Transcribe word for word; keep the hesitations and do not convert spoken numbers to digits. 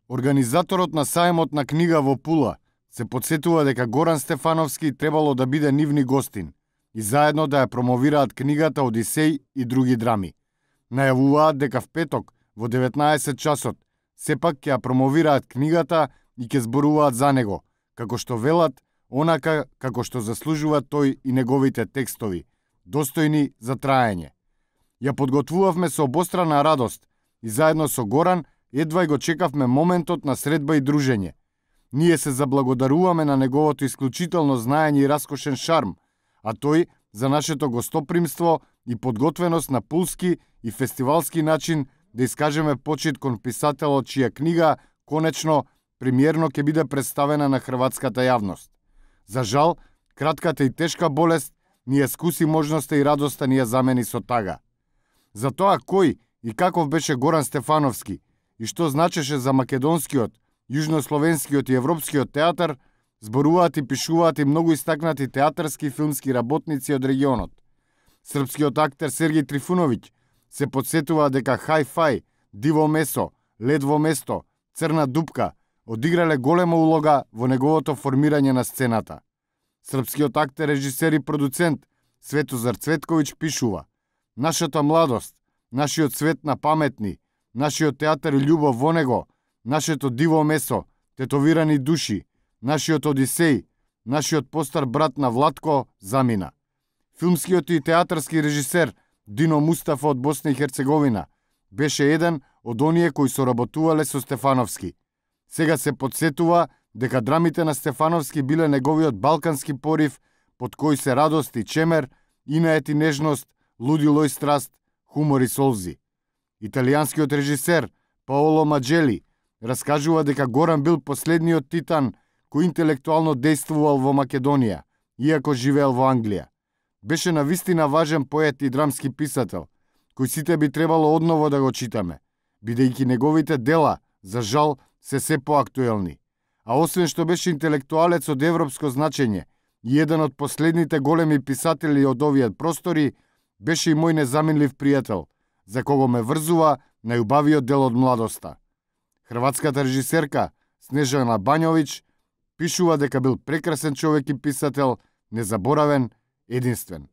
Организаторот на саемот на книга во Пула се потсетува дека Горан Стефановски требало да биде нивни гостин и заедно да ја промовираат книгата Одисеј и други драми. Најавуваат дека в петок во деветнаесет часот сепак ќе ја промовираат книгата и ќе зборуваат за него, како што велат, онака како што заслужува тој и неговите текстови, достојни за траење. Ја подготвувавме со обострана радост и заедно со Горан едва и го чекавме моментот на средба и дружење. Ние се заблагодаруваме на неговото исклучително знаење и раскошен шарм, а тој за нашето гостопримство и подготвеност на пулски и фестивалски начин да искажеме почит кон писателот чија книга, конечно, премиерно ќе биде представена на хрватската јавност. За жал, кратката и тешка болест ни ја скуси можноста и радоста ни ја замени со тага. За тоа кој и каков беше Горан Стефановски и што значеше за македонскиот, јужнословенскиот и европскиот театар, зборуваат и пишуваат и многу истакнати театарски и филмски работници од регионот. Српскиот актер Сергеј Трифуновиќ се подсетува дека Хај-фај, Диво месо, Лед во место, Црна дупка одиграле голема улога во неговото формирање на сцената. Српскиот актер, режисер и продуцент Светозар Цветковиќ пишува: нашата младост, нашиот свет на паметни, нашиот театар и љубов во него, нашето диво месо, тетовирани души, нашиот Одисеј, нашиот постар брат на Владко замина. Филмскиот и театарски режисер Дино Мустафа од Босна и Херцеговина беше еден од оние кои соработувале со Стефановски. Сега се подсетува дека драмите на Стефановски биле неговиот балкански порив, под кој се радост и чемер, инает и нежност, лудило и страст, хумор и солзи. Италијанскиот режисер Паоло Маджели раскажува дека Горан бил последниот титан кој интелектуално действувал во Македонија, иако живеел во Англија. Беше навистина важен поет и драмски писател, кој сите би требало одново да го читаме, бидејќи неговите дела, за жал, се се поактуелни. А освен што беше интелектуалец од европско значење и еден од последните големи писатели од овие простори, беше и мој незаменлив пријател, за кого ме врзува најубавиот дел од младоста. Хрватската режисерка Снежана Бањовиќ пишува дека бил прекрасен човек и писател, незаборавен, единствен.